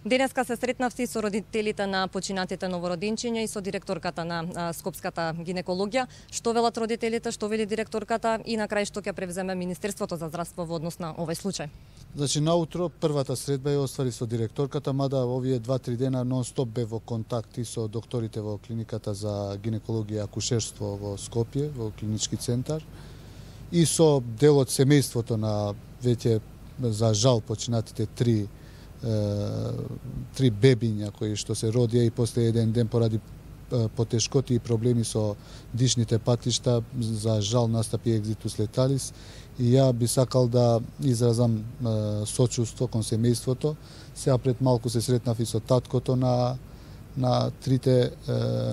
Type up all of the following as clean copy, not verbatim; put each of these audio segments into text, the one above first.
Денеска се сретнавте со родителите на починатите новородинчиња и со директорката на Скопската гинекологија. Што велат родителите, што вели директорката и на крај што ќе превземе Министерството за здравство во однос на овој случај? Значи, наутро првата средба ја оствари со директорката, мада овие 2-3 дена нон-стоп бе во контакти со докторите во клиниката за гинекологија и акушерство во Скопје, во клинички центар, и со дел од семејството на веќе за жал починатите три бебиња кои што се родија и после еден ден поради потешкоти и проблеми со дишните патишта, за жал настапи екзитус леталис, и ја би сакал да изразам сочувство кон семејството. Сега пред малку се сретнав и со таткото на трите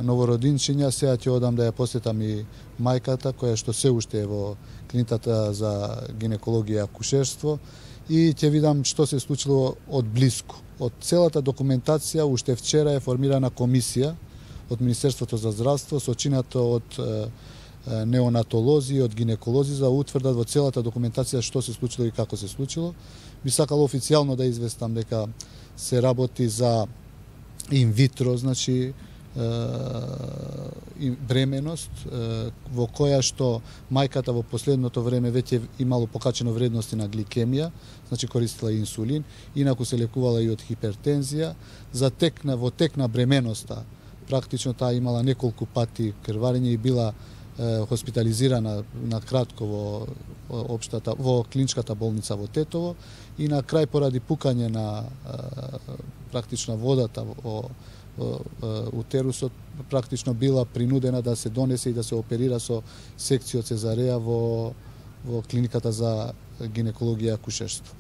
новородинчиња. Сега ќе одам да ја посетам и мајката, која што се уште е во клиниката за гинекологија и акушерство, и ќе видам што се случило од блиску. Од целата документација уште вчера е формирана комисија од Министерството за здравство, сочинато од неонатолози и од гинеколози, за да утврдат во целата документација што се случило и како се случило. Би сакал официјално да известам дека се работи за инвитро, значи бременост, во која што мајката во последното време веќе имало покачено вредности на гликемија, значи користила инсулин, инаку се лекувала и од хипертензија. Во тек на бременоста, практично таа имала неколку пати крварење и била хоспитализирана на кратко во клиничката болница во Тетово, и на крај поради пукање на практично водата во утерусот, практично била принудена да се донесе и да се оперира со секција цезареја во клиниката за гинекологија и акушерство.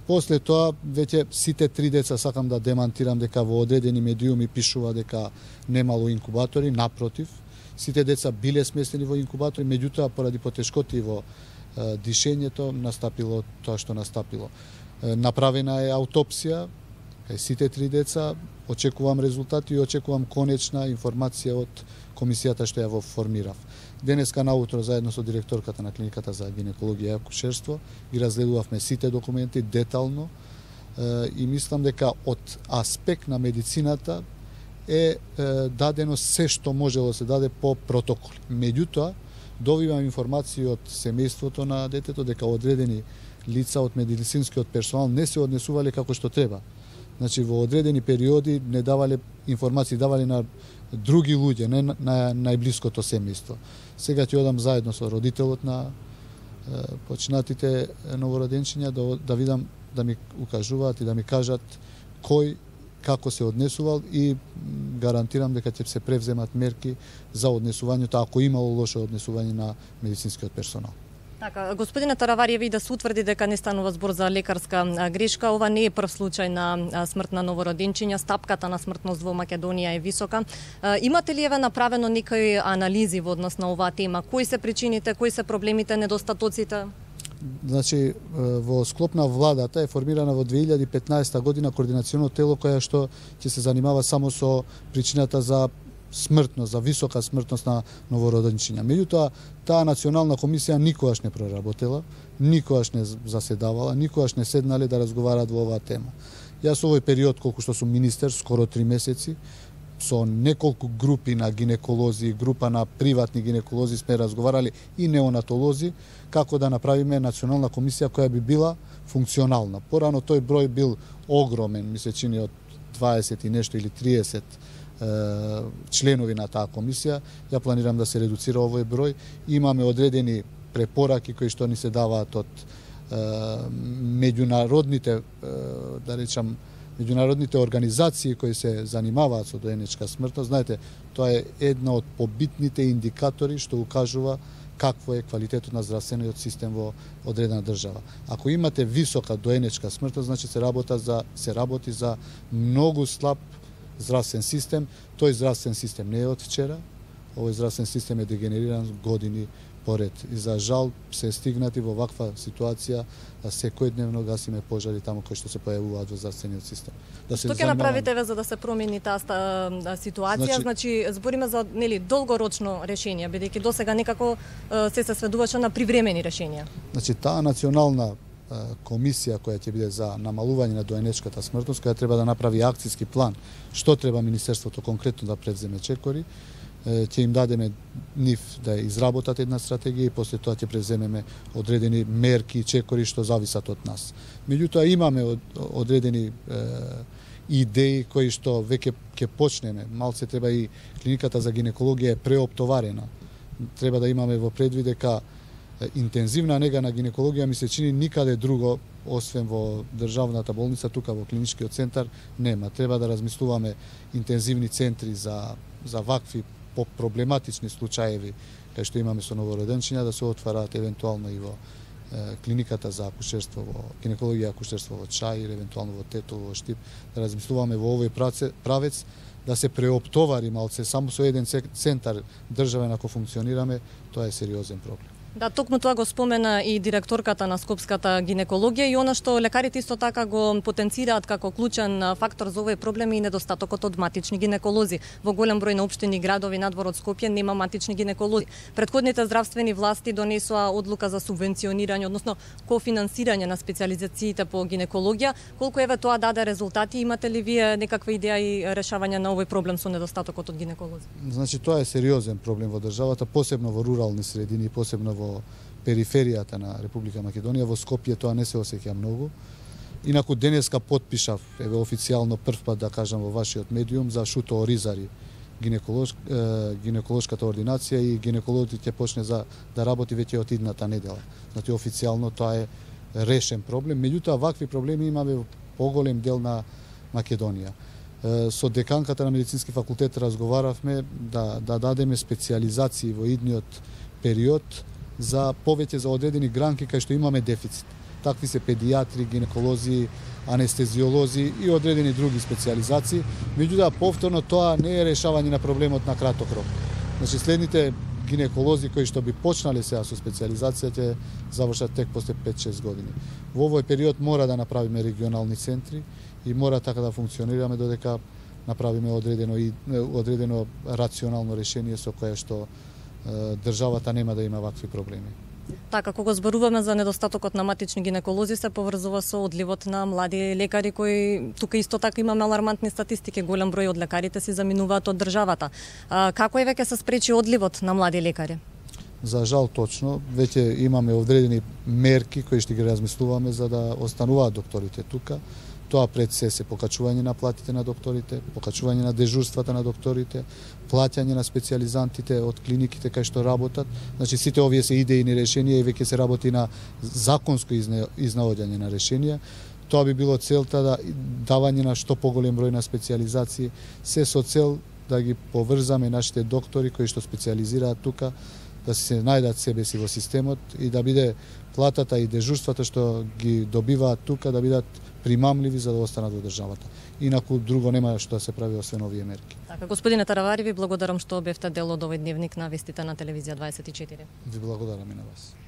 После тоа, веќе сите три деца, сакам да демантирам дека во одредени медиуми пишува дека немало инкубатори, напротив, сите деца биле сместени во инкубатори, меѓутоа поради потешкоти во дишењето настапило тоа што настапило. Направена е аутопсија кај сите три деца, очекувам резултати и очекувам конечна информација од комисијата што ја во формирав. Денеска наутро заедно со директорката на клиниката за гинекологија и акушерство ги разгледувавме сите документи детално, и мислам дека од аспект на медицината е дадено се што можело да се даде по протоколи. Меѓутоа, добивам информации од семејството на детето дека одредени лица од медицинскиот персонал не се однесувале како што треба. Значи, во одредени периоди не давале информации, давале на други луѓе, не на најблиското семејство. Сега ќе одам заедно со родителот на починатите новороденчиња да видам, да ми укажуваат и да ми кажат кој како се однесувал, и гарантирам дека ќе се превземат мерки за однесувањето ако имало лошо однесување на медицинскиот персонал. Така, господине Таравариев, да се утврди дека не станува збор за лекарска грешка, ова не е прв случај на смрт на новородинчиња, стапката на смртност во Македонија е висока. Имате ли направено некои анализи во однос на оваа тема? Кои се причините, кои се проблемите, недостатоците? Значи, во склоп на владата е формирана во 2015 година координационо тело која што ќе се занимава само со причината за смртност, за висока смртност на новороденчиња. Меѓутоа, таа национална комисија никогаш не проработела, никогаш не заседавала, никогаш не седнале да разговараат во оваа тема. Јас овој период, колку што сум министер, скоро 3 месеци, со неколку групи на гинеколози, група на приватни гинеколози сме разговарали и неонатолози, како да направиме национална комисија која би била функционална. Порано тој број бил огромен, ми се чини од 20 и нешто или 30 членови на таа комисија. Ја планирам да се редуцира овој број. Имаме одредени препораки кои што ни се даваат од меѓународните, да речам, меѓународните организации кои се занимаваат со доенечка смртност. Знаете, тоа е една од побитните индикатори што укажува какво е квалитетот на здравствениот систем во одредена држава. Ако имате висока доенечка смртност, значи се работи за многу слаб здравствен систем. Тој здравствен систем не е од вчера. Овој здравствен систем е дегенериран години поред. И за жал се стигнати во ваква ситуација да секојдневно гасиме пожари таму кои што се појавуваат во здравствениот систем. Што ќе направите за да се промени таа ситуација? Значи збориме за долгорочно решение, бидејќи досега некако се сведуваше на привремени решенија. Значи таа национална комисија која ќе биде за намалување на доенечката смртност, која треба да направи акцијски план што треба Министерството конкретно да превземе чекори. Ќе им дадеме нив да изработат една стратегија и после тоа ќе превземеме одредени мерки и чекори што зависат од нас. Меѓутоа имаме одредени идеи кои што веќе ќе почнеме. Малце треба и клиниката за гинекологија е преоптоварена. Треба да имаме во предвид дека интензивна нега на гинекологија ми се чини никаде друго освен во државната болница, тука во клиничкиот центар нема. Треба да размислуваме интензивни центри за вакви проблематични случаеви кај што имаме со новороденчиња да се отвараат евентуално и во клиниката за акушерство во гинекологија и акушерство во Чај или евентуално во Тетово, во Штип, да размислуваме во овој правец да се преоптовари малце само со еден центар државен ако функционираме, тоа е сериозен проблем. Да, токму тоа го спомена и директорката на Скопската гинекологија и она што лекарите исто така го потенцираат како клучен фактор за овој проблем и недостатокот од матични гинеколози. Во голем број на општини и градови надвор од Скопје нема матични гинеколози. Претходните здравствени власти донесоа одлука за субвенционирање, односно кофинансирање на специјализациите по гинекологија. Колку еве тоа даде резултати, имате ли вие некаква идеја и решавање на овој проблем со недостатокот од гинеколози? Значи тоа е сериозен проблем во државата, посебно во рурални средини, посебно во периферијата на Република Македонија. Во Скопје тоа не се осеќа многу. Инаку денеска потпишав еве официјално прв пат да кажам во вашиот медиум за Шуто Оризари гинеколошката ординација и гинекологот ќе почне да работи веќе од идната недела. Значи официјално тоа е решен проблем, меѓутоа вакви проблеми имаме во поголем дел на Македонија. Со деканката на медицински факултет разговаравме да дадеме специјализации во идниот период за повеќе за одредени гранки кај што имаме дефицит. Такви се педиатри, гинеколози, анестезиолози и одредени други специјализации. Меѓутоа повторно тоа не е решавање на проблемот на краток рок. Значи следните гинеколози кои што би почнале сега со специјализација ќе завршат тек после 5-6 години. Во овој период мора да направиме регионални центри и мора така да функционираме додека направиме одредено рационално решение со кое што државата нема да има вакви проблеми. Така, кога зборуваме за недостатокот на матични гинеколози, се поврзува со одливот на млади лекари кои тука исто така имаме алармантни статистики, голем број од лекарите си заминуваат од државата. Како е веќе се спречи одливот на млади лекари? За жал точно, веќе имаме одредени мерки кои што ги размислуваме за да остануваат докторите тука. Тоа пред се покачување на платите на докторите, покачување на дежурствата на докторите, плаќање на специјализантите од клиниките кај што работат. Значи сите овие се идејни решенија и веќе се работи на законско изнаоѓање на решенија. Тоа би било целта да давање на што поголем број на специјализации, се со цел да ги поврзаме нашите доктори кои што специјализираат тука, да се најдат себе си во системот и да биде платата и дежурствата што ги добиваат тука да бидат примамливи за да останат во државата. Инаку друго нема што да се прави освен овие мерки. Така, господине Таравари, ви благодарам што бевте дел од овој дневник на вестите на телевизија 24. Ви благодарам и на вас.